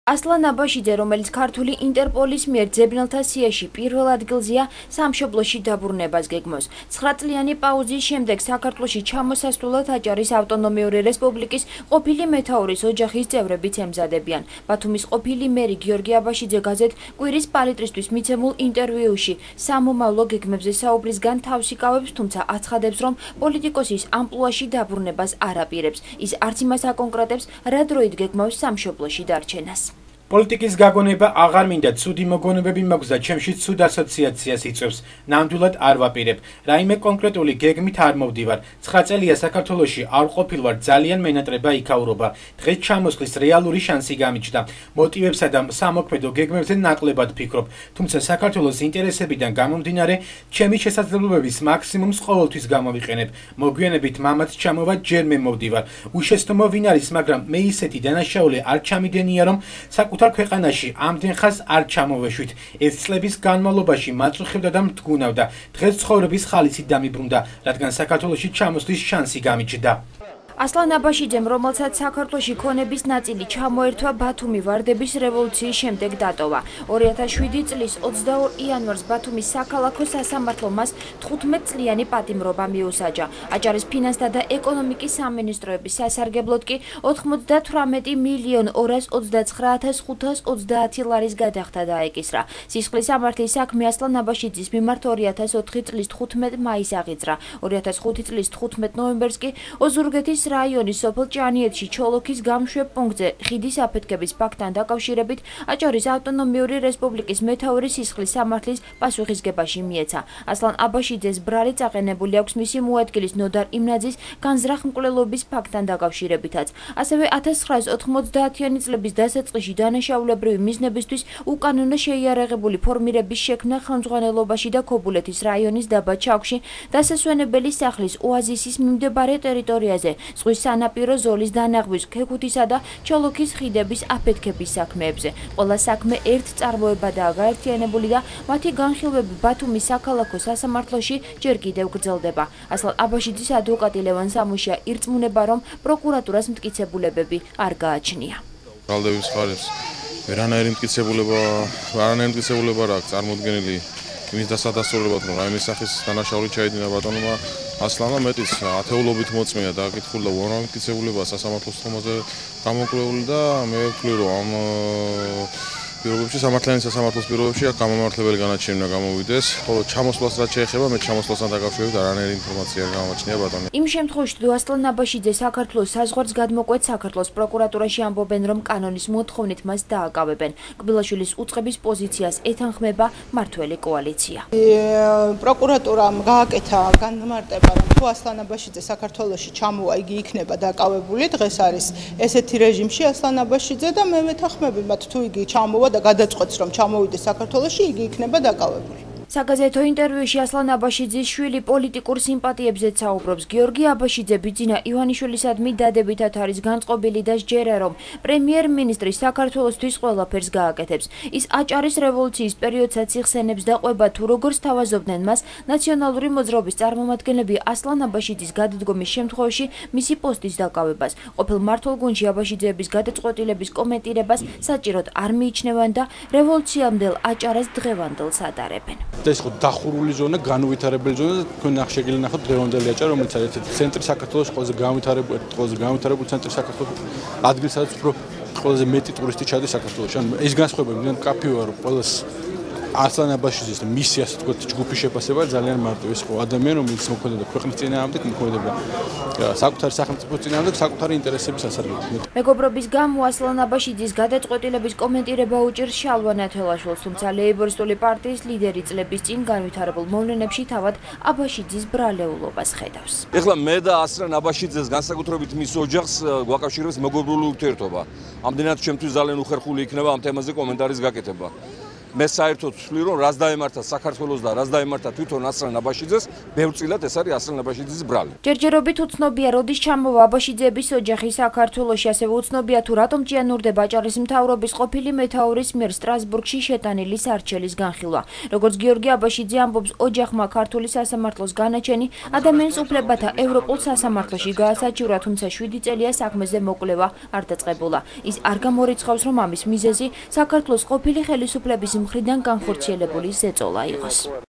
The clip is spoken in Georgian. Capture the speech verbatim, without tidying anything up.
ასლან აბაშიძე, რომელიც ქართული ინტერპოლის მიერ ძებნელთა სიაში პირველ ადგილზეა, სამშობლოში დაბრუნებას გეგმავს. ცხრა წლიანი პაუზის შემდეგ საქართველოში ჩამოსასვლელად აჭარის ავტონომიური რესპუბლიკის ყოფილი მეთაურის ოჯახის წევრებიც ემზადებიან. ბათუმის ყოფილი მერი გიორგი აბაშიძე გაზეთ კვირის პალიტრისთვის მიცემულ ინტერვიუში სამომავლო გეგმებზე საუბრისგან თავს იკავებს, თუმცა აცხადებს, რომ პოლიტიკოსის ამპლუაში დაბრუნებას არ აპირებს. ის არც იმას აკონკრეტებს, რა დროით გეგმავს სამშობლოში დარჩენას. პოლიტიკის გაგონება აღარ მინდა, ცუდი მოგონებები მაქვს და ჩემში ცუდ ასოციაციას იწვევს. ნამდვილად არ ვაპირებ. რაიმე კონკრეტული გეგმით არ მოვდივარ. ცხრა წელია საქართველოში არ ყოფილვარ, ძალიან მენატრება იქაურობა. დღეს ჩამოსვლის რეალური შანსი გამიჩნდა. მოტივებსა და სამოქმედო გეგმებზე ნაკლებად ფიქრობ. თუმცა საქართველოს ინტერესებიდან გამომდინარე, ჩემი შესაძლებლობების მაქსიმუმს ყოველთვის გამოვიყენებ. მოგვიანებით მამაც ჩამოვა, ჯერ მე მოვდივარ. უშეცდომო ვინ არის, მაგრამ მე ისეთი დანაშაული არ ჩამიდენია, რომ საკუთარ ქვეყანაში ამდენ ხანს არ ჩამოვეშვით. ეს წლების განმავლობაში მაწუხებდა და მდგუნავდა. დღეს ცხოვრების ხალისით დამიბრუნდა, რადგან საქართველოში ჩამოსვლის შანსი გამიჩნდა. ასლან აბაშიძემ, რომელსაც საქართველოში ქონების ნაწილი ჩამოერთვა ბათუმი ვარდების რევოლუციის შემდეგ დატოვა. ორი ათას შვიდი წლის ოცდაორ იანვარს ბათუმის საქალაქო სასამართლომ მას თხუთმეტ წლიანი პატიმრობა მიუსაჯა. აჭარის ფინანსთა და ეკონომიკის სამინისტროების სასარგებლოდ კი ოთხმოცდათვრამეტი მილიონ ორას ოცდაცხრა ათას ხუთას ოცდაათი ლარის გადახდა დაეკისრა. სისხლის სამართლის საქმე ასლან აბაშიძის მიმართ ორი ათას ოთხი წლის თხუთმეტ მაისს აღიძრა. ორი ათას ხუთი წლის თხუთმეტ ნოემბერს კი ოზურგეთის რაიონის სოფელ ჭანიეთში ჩოლოქის გამშვებ პუნქტზე ხიდის აფეთქების ფაქტთან დაკავშირებით აჭარის ავტონომიური რესპუბლიკის მეთაურის სისხლის სამართლის პასუხისგებაში მიეცა. ასლან აბაშიძეს ბრალი წაყენებული აქვს მისი მოადგილის ნოდარ იმნაძის განზრახ-მკვლელობის ფაქტთან დაკავშირებითაც. ასევე ათას ცხრაას ოთხმოცდაათიანი წლების დასაწყისში დანაშაულებრივი მიზნებისთვის უკანონო შეიარაღებული ფორმირების შექმნა ხელმძღვანელობაში და ქობულეთის რაიონის დაბა ჩაქვში დასასვენებელი სახლის ოაზისის მიმდებარე ტერიტორიაზე ზღვის სანაპირო ზოლის დანახვის, ქექუთისა და ჩოლოქის ხიდების აფეთქების საქმეებზე. ყველა საქმე ერთ წარმოებადაა გაერთიანებული და მათი განხილვები ბათუმის საქალაქო სასამართლოში ჯერ კიდევ გრძელდება. ასლან აბაშიძის ადვოკატი ლევან სამუშია ირწმუნება, რომ პროკურატურას მტკიცებულებები არ გააჩნია. ბრალდების ხარეს ვერანაირი მტკიცებულება, ვერანაირი მტკიცებულება რა აქვს წარმოდგენილი იმის დასადასტურებლად, რომ რაიმე სახის დანაშაული ჩაიდინა ბატონმა ასლანმა, მეტიც ათეულობით მოწმეა დააკითხული და უამრავი მტკიცებულება სასამართლოს თემაზე გამოკვლეული და მე ვფლი, რომ ამ პირობებში სამართლიანი სასამართლოს პირობებში გამომართლებელი განაჩენი უნდა გამოვიდეს. ხოლო ჩამოსვლას რაც შეეხება, მე ჩამოსვლასთან დაკავშირებით არანაირი ინფორმაცია არ გამაჩნია ბატონო. იმ შემთხვევაში, თუ ასლან აბაშიძე საქართველოს საზღვარს გადმოკვეთ, საქართველოს პროკურატურაში ამბობენ, რომ კანონის მოთხოვნით მას დააკავებენ. კბილაშვილის უწყების პოზიციას ეთანხმება მართველი კოალიცია. პროკურატურამ გააკეთა განმარტება, რომ თუ ასლან აბაშიძე საქართველოში ჩამოვა, იგი იქნება დაკავებული. დღეს არის ესეთი რეჟიმში ასლან აბაშიძე და მე ვეთანხმები მათ, თუ იგი ჩამოვა და გადაწყვეტს, რომ ჩამოვიდეს საქართველოში, იგი იქნება დაკავებული. საგაზეთო ინტერვიუში ასლან აბაშიძის შვილი პოლიტიკურ სიმპათიებზეც საუბრობს. გიორგი აბაშიძე ბიძინა ივანიშვილისადმი დადებითად არის განწყობილი და სჯერა, რომ პრემიერ-მინისტრი საქართველოსთვის ყველაფერს გააკეთებს. ის აჭარის რევოლუციის პერიოდსაც იხსენებს და ყვება, თუ როგორ სთავაზობდნენ მას ნაციონალური მოძრაობის წარმომადგენლები ასლან აბაშიძის გადადგომის შემთხვევაში მისი პოსტის დაკავებას. ყოფილ მმართველ გუნდში აბაშიძეების გადაწყვეტილების კომენტირებას საჭიროდ არ მიიჩნევენ და რევოლუციამდელ აჭარას დღევანდელს ადარებენ. ეს ხო დახურული ზონა, განუვითარებელი ზონა და თქვენ ახშეგილი ნახოთ დღევანდელი აჭარა, რომელიც არის ერთ-ერთი ცენტრი საქართველოს, ყველაზე განვითარებული, ყველაზე განვითარებული ცენტრი საქართველოს, ადგილი სადაც უფრო ყველაზე მეტი ტურისტი ჩადის საქართველოში. ანუ ეს განსხვავება მე მკაფიო ვარ, ყველას ასლან აბაშიძის მისი ასე თქვა ჯგუფის შეფასება ძალიან მარტივი ის ხო ადამიანი, რომელიც მოქმედებდა ქვეყნის წინააღმდეგ, მოქმედებდა საკუთარი სახელმწიფოს წინააღმდეგ, საკუთარი ინტერესების სასარგებლოდ. მეგობრობის გამო ასლან აბაშიძის გადაწყვეტილების კომენტირება უჭირს შალვა ნათელაშვილს, თუმცა ლეიბორისტული პარტიის ლიდერი წლების წინ განვითარებულ მოვლენებში თავად აბაშიძის ბრალეულობას ხედავს. ეხლა მე და ასლან აბაშიძეს განსაკუთრებით მის ოჯახს გვაკავშირებს მეგობრული ურთიერთობა. ამდენად ჩემთვის ძალიან უხერხული იქნება ამ თემაზე კომენტარის გაკეთება. მე საერთოდ ვთვლი რომ რას დაემართა საქართველოს და რას დაემართა თვითონ ასრან აბაშიძეს, ბევრწილად ეს არის ასრან აბაშიძის ბრალი. ჯერჯერობით უცნობია, როდის ჩამოვა აბაშიძეების ოჯახი საქართველოში, ასევე უცნობია თუ რატომ ჭიანურდება აჭარის მთავრობის ყოფილი მეთაურის მიერ სტრასბურგში შეტანილი სარჩელის განხილვა. როგორც გიორგი აბაშიძე ამბობს, ოჯახმა ქართული სასამართლოს განაჩენი ადამიანის უფლებათა ევროპულ სასამართლოში გაასაჩივრა, თუმცა შვიდი წელია საქმეზე მოკვლევა არ დაწყებულა. ის არ გამორიცხავს, რომ ამის მიზეზი საქართველოს ყოფილი ხელისუფლების მხრიდან განხორციელებული ზეწოლა იყოს.